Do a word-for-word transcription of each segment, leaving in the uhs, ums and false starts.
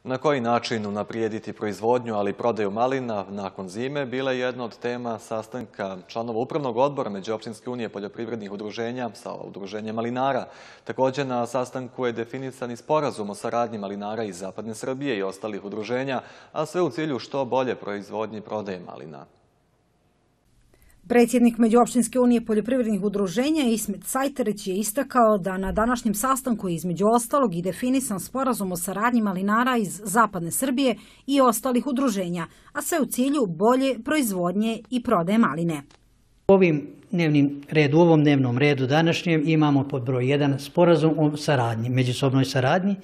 Na koji način unaprijediti proizvodnju, ali i prodaju malina nakon zime, bila je jedna od tema sastanka članova Upravnog odbora Međuopštinske unije poljoprivrednih udruženja sa udruženjem malinara. Također na sastanku je definisan i sporazum o saradnji malinara iz Zapadne Srbije i ostalih udruženja, a sve u cilju što bolje proizvodnje i prodaje malina. Predsjednik Međuopštinske unije poljoprivrednih udruženja Ismet Sajterić je istakao da na današnjem sastanku između ostalog i definisan sporazum o saradnji malinara iz Zapadne Srbije i ostalih udruženja, a sve u cilju bolje proizvodnje i prodaje maline. Ovim dnevnim redu, u ovom dnevnom redu današnjem imamo pod broj jedan sporazum o saradnji, međusobnoj saradnji.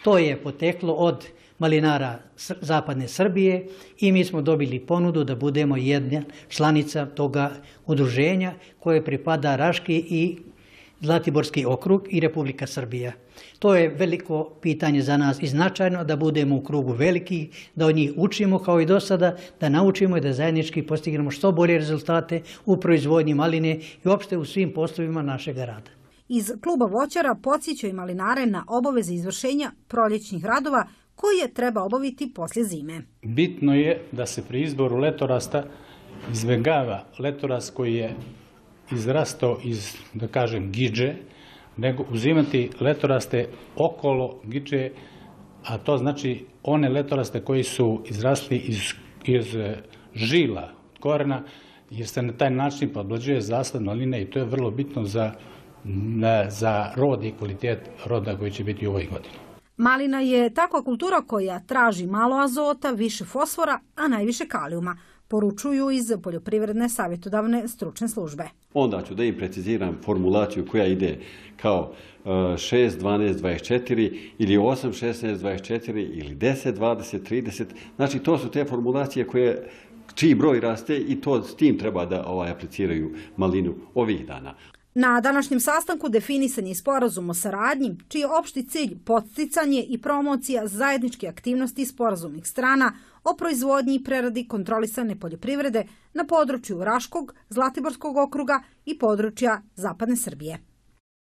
To je poteklo od malinara Zapadne Srbije i mi smo dobili ponudu da budemo jedna članica toga udruženja koje pripada Raški i Zlatiborski okrug i Republika Srbija. To je veliko pitanje za nas i značajno da budemo u krugu velikih, da od njih učimo kao i do sada, da naučimo i da zajednički postignemo što bolje rezultate u proizvodnji maline i uopšte u svim poslovima našeg rada. Iz kluba voćara podsjećaju malinare na obaveze izvršenja proljećnih radova koje treba obaviti poslije zime. Bitno je da se pri izboru letorasta izbjegava letorast koji je izrastao iz, da kažem, gidže, nego uzimati letoraste okolo gidže, a to znači one letoraste koji su izrasli iz, iz žila, korena, jer se na taj način podblađuje zasad maline i to je vrlo bitno za, za rod i kvalitet roda koji će biti u ovoj godini. Malina je takva kultura koja traži malo azota, više fosfora, a najviše kalijuma, poručuju iz Poljoprivredne savjetodavne stručne službe. Onda ću da im preciziram formulaciju koja ide kao šest, dvanaest, dvadeset četiri ili osam, šesnaest, dvadeset četiri ili deset, dvadeset, trideset. Znači to su te formulacije koje, čiji broj raste i to s tim treba da ovaj, apliciraju malinu ovih dana. Na današnjem sastanku definisan je sporazum o saradnji, čiji je opšti cilj podsticanje i promocija zajedničke aktivnosti sporazumnih strana o proizvodnji i preradi kontrolisane poljoprivrede na području Raškog, Zlatiborskog okruga i područja Zapadne Srbije.